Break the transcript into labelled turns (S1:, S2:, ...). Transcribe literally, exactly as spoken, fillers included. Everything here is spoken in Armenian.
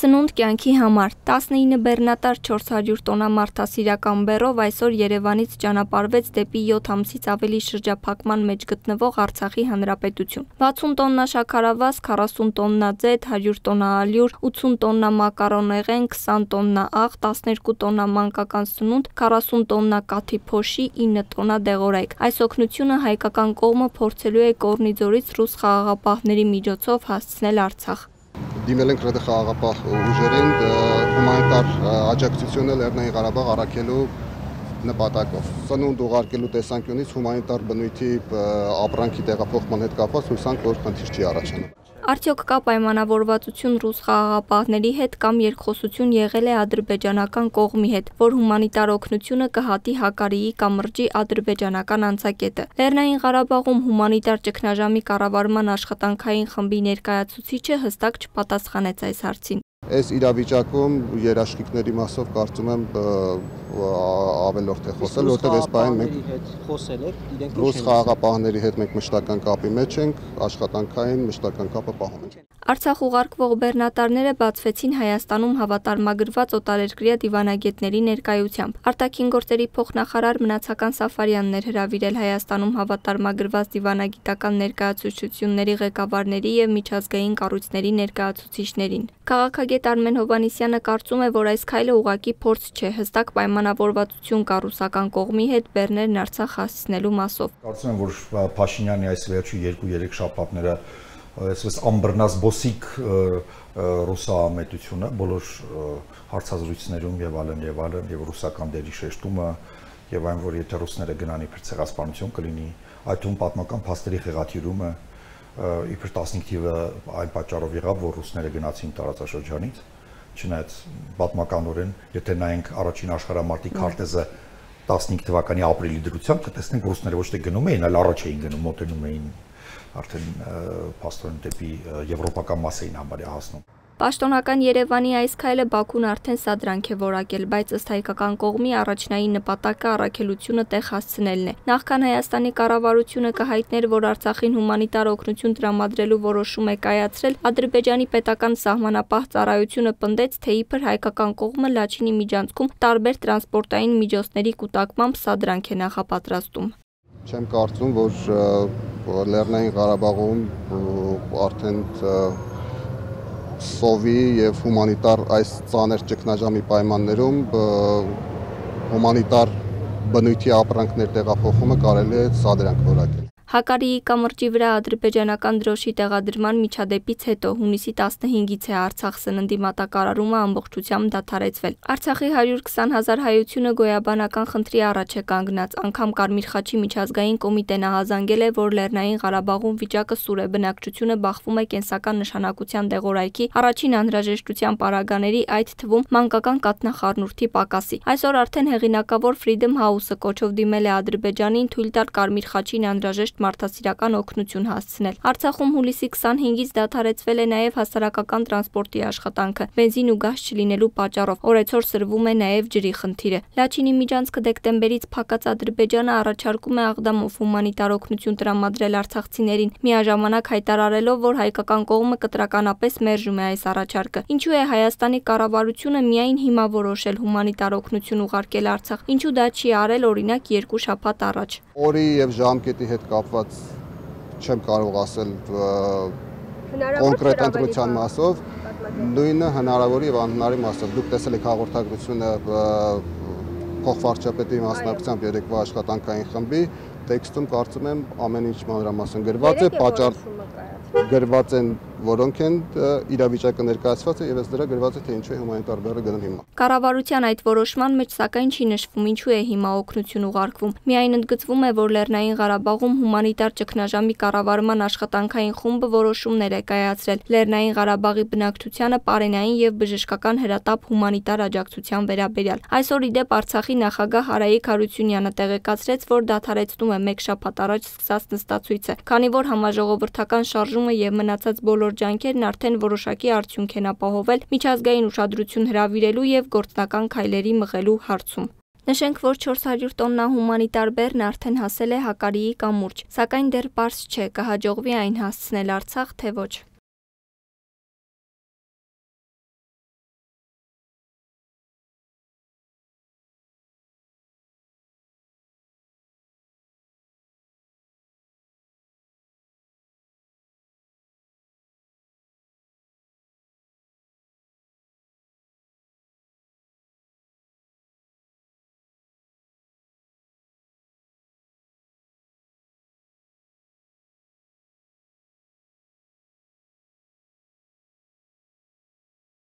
S1: Սնունդ կյանքի համար տասնինը բեռնատար չորս հարյուր տոննա մարդասիրական բեռով այսօր Երևանից ճանապարհվեց դեպի յոթ ամսից ավելի շրջափակման մեջ գտնվող Արցախի Հանրապետություն։ վաթսուն տոննա շաքարավազ, քառասուն տոննա ձեթ, հարյուր տոննա ալյուր, ութսուն տոննա մակարոնեղեն, քսան տոննա աղ, տասներկու տոննա մանկական սնունդ, քառասուն տոննա կաթի փոշի, ինը տոննա դեղորայք։ Այս օգնությունը հայկական կողմը փորձելու է Կորնիձորից ռուս խաղաղապահների միջոցով հասցնել Արցախ։
S2: Դիմել ենք ռեդը խաղաղապահ ուժերին հումանիտար աջակցությունը Լեռնային Ղարաբաղ առաքելու նպատակով։ Սնունդ ուղարկելու տեսանկյունից հումանիտար բնույթի ապրանքի տեղափոխման հետ կապված հույսանք, որ խնդիր չի առաջանում։
S1: Արդյոք կա պայմանավորվածություն ռուս խաղաղապահների հետ կամ երկխոսություն եղել է ադրբեջանական կողմի հետ, որ հումանիտար օգնությունը կհատի Հակարիի կամրջի ադրբեջանական անցակետը։ Լեռնային Ղարաբաղում հումանիտար ճգնաժամի կառավարման աշխատանքային խմբի ներկայացուցիչը հստակ չպատասխանեց այս հարցին։
S2: Այս իրավիճակում երաշխիքների մասով կարծում եմ ավելորդ է խոսել, որտեղ այս բանը մենք ռուս խաղաղապահների հետ մենք մշտական կապի մեջ ենք, աշխատանքային մշտական կապը պահում ենք։
S1: Արցախ ուղարկվող բեռնատարները բացվեցին Հայաստանում հավատարմագրված օտարերկրյա դիվանագետների ներկայությամբ։ Արտաքին գործերի փոխնախարար Մնացական Սաֆարյանն էր հրավիրել Հայաստանում հավատարմագրված դիվանագիտական ներկայացուցչությունների ղեկավարների եւ միջազգային կառույցների ներկայացուցիչներին։ Քաղաքագետ Արմեն Հովհաննիսյանը կարծում է, որ այս քայլը ուղղակի փորձ չէ, հստակ պայմանավորվածություն կա ռուսական կողմի հետ բեռներն Արցախ հասցնելու մասով։
S3: Կարծում եմ, որ Փաշինյանի այս վերջի երկու-երեք շաբաթները այսպես ամբռնազբոսիկ ռուսամետությունը բոլոր հարցազրույցներում եւ այլն եւ այլն եւ ռուսական դերի շեշտումը եւ այն, որ եթե ռուսները գնան իբր ցեղասպանություն կլինի, այդ թվում պատմական փաստերի խեղաթյուրումը իբր տասնհինգ թիվը այն պատճառով եղավ, որ ռուսները գնացին տարածաշրջանից, չնայած պատմականորեն, եթե նայենք առաջին աշխարհամարտի քարտեզը տասնհինգ թվականի ապրիլի դրությամբ, կտեսնենք ռուսները ոչ թե գնում էին, այլ առաջ էին գնում, մոտենում էին արդեն փաստորեն դեպի եվրոպական մաս էին համարյա հասնում։
S1: Պաշտոնական Երևանի այս քայլը Բաքուն արդեն սադրանք է որակել, բայց ըստ հայկական կողմի առաջնային նպատակը առաքելությունը տեղ հասցնելն է։ Նախքան Հայաստանի կառավարությունը կհայտներ, որ Արցախին հումանիտար օգնություն տրամադրելու որոշում է կայացրել, Ադրբեջանի պետական սահմանապահ ծառայությունը պնդեց, թե իբր հայկական կողմը Լաչինի միջանցքում տարբեր տրանսպորտային միջոցների կուտակմամբ սադրանք է նախապատրաստում։
S2: Չեմ կարծում, որ Լեռնային Ղարաբաղում արդեն սովի եւ հումանիտար այս ծանր ճգնաժամի պայմաններում հումանիտար բնույթի ապրանքներ տեղափոխումը կարելի է սադրանք որակել։
S1: Հակարիի կամրջի վրա ադրբեջանական դրոշի տեղադրման միջադեպից հետո հունիսի տասնհինգից է Արցախ սննդի մատակարարումը ամբողջությամբ դադարեցվել։ Արցախի հարյուր քսան հազար հայությունը գոյաբանական խնդրի առաջ է կանգնած, անգամ Կարմիր խաչի միջազգային կոմիտեն ահազանգել է, որ Լեռնային Ղարաբաղում վիճակը սուր է, բնակչությունը բախվում է կենսական նշանակության դեղորայքի, առաջին անհրաժեշտության պարագաների, այդ թվում մանկական կաթնախառնուրդի պակասի։ Այսօր արդեն հեղինակավոր Freedom House-ը կոչով դիմել է Ադրբեջանին թույլ տալ Կարմիր խաչին անհրաժեշտ մարդասիրական օգնություն հասցնել։ Արցախում հուլիսի քսանհինգից դադարեցվել է նաև հասարակական տրանսպորտի աշխատանքը, բենզին ու գազ չլինելու պատճառով, օրեցօր սրվում է նաև ջրի խնդիրը։ Լաչինի միջանցքը դեկտեմբերից փակած Ադրբեջանը առաջարկում է աղդամով հումանիտար օգնություն տրամադրել արցախցիներին, միաժամանակ հայտարարելով, որ հայկական կողմը կտրականապես մերժում է այս առաջարկը։ Ինչու է Հայաստանի կառավարությունը միայն հիմա որոշել հումանիտար օգնություն ուղարկել Արցախ, ինչու դա չի արել օրինակ երկու շաբաթ առաջ։
S2: Օրի եւ ժամկետի հետ կապված չեմ կարող ասել կոնկրետ ընտրության մասով, նույնը հնարավոր եւ անհնարի մասով։ Դուք տեսել եք հաղորդագրությունը փոխվարչապետի մասնակցությամբ երեկվա աշխատանքային խմբի տեքստում կարծում եմ ամեն ինչ մանրամասն գրված է, պատճառ գրված են, որոնք են իրավիճակը ներկայացված է եւ ըստ դրա գրված է, թե ինչու է հումանիտար բեռը գնել հիմա։
S1: Կառավարության այդ որոշման մեջ սակայն չի նշվում ինչու է հիմա օգնություն ուղարկվում։ Միայն ընդգծվում է, որ Լեռնային Ղարաբաղում հումանիտար ճգնաժամի կառավարման աշխատանքային խումբը որոշումներ է կայացրել Լեռնային Ղարաբաղի բնակչությանը պարենային եւ բժշկական հրատապ հումանիտար աջակցության վերաբերյալ։ Այսօր իդեպ Արցախի նախագահ Արայիկ Հարությունյանը տեղեկացրեց, որ դադարեցնում է մեկ շաբաթ առաջ սկսած նստածույցը, քանի որ համաժողովրդական շարժումը եւ մնացած բոլոր ջանքերն արդեն որոշակի արդյունք են ապահովել միջազգային ուշադրություն հրավիրելու եւ գործնական քայլերի մղելու հարցում։ Նշենք, որ չորս հարյուր տոննա հումանիտար բեռն արդեն հասել է Հակարիի կամուրջ, սակայն դեռ պարզ չէ կհաջողվի այն հասցնել Արցախ, թե ոչ։